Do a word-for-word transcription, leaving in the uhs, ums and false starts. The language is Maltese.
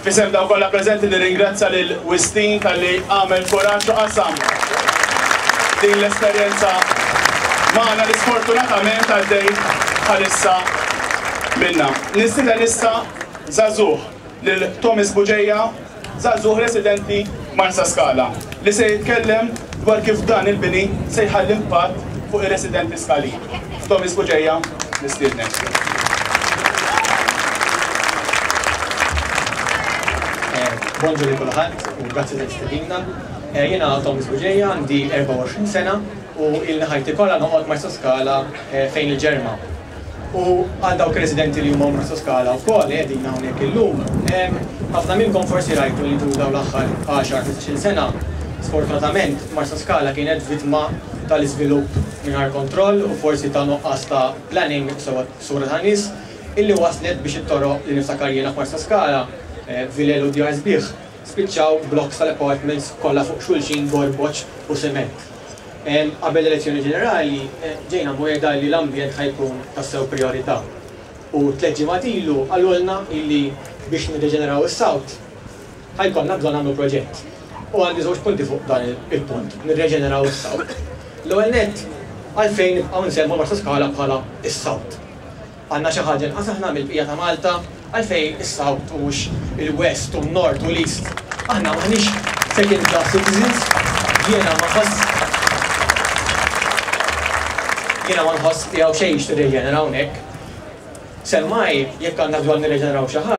F'isem dawk kollha preżenti nirringrazzja lil Wistin talli għamel kuraġġ u qasam din l-esperjenza magħna li sfortunatament għaddej bħalissa minna. Nistieden issa żagħżugħ lil Thomas Bugeja, żagħżugħ residenti Marsaskala, li se jitkellem dwar kif dan il-bini se jħalli impatt fuq ir-residenti Skalin. Thomas Bugeja, nistiednek. Bonġu li kulħadd u grazzi tal-istedina. Jiena Thomas Bugeja, għandi erbgħa u għoxrin sena u ilni ħajti kollha noqgħod Marsaskala fejn il-Ġerma. U għal dawk residenti li huma Marsaskala wkoll qegħdin hawnhekk illum, ħafna minnkom forsi rajtu li tul dawn l-aħħar għaxar ħmistax-il sena, sfortunatament Marsaskala kienet vittma tal-iżvilupp mingħajr kontroll u forsi ta' nuqqas ta' planning sewwa sura ta' nies illi waslet biex it-toroq li niftakar jiena f'Marsaskala, vilel u djar sbieħ, spiċċaw blocks tal-apartments kollha fuq xulxin gorboċ u sement. Qabel l-elezzjoni ġenerali ġejna mwegħda li l-ambjent ħa jkun tassew priorità. U tliet ġimgħat ilu qalulna illi biex nirreġeneraw is-South ħa jkollna bżonn nagħmlu proġett. U għandi żewġ punti fuq dan il-punt, nirreġeneraw is-South. L-ewwel nett, għalfejn nibqgħu nsemmu Marsaskala bħala is-South? Għandna xi ħaġa inqas aħna mill-bqija ta' Malta? Għalfejn is-South u mhux il-West u n-North u l-East? Aħna m'aħniex second class citizens, jiena ma nħoss jiena ma nħoss li hawn xejn x'tirreġenera hawnhekk. Semmai jekk għandna bżonn nirreġeneraw xi ħaġa,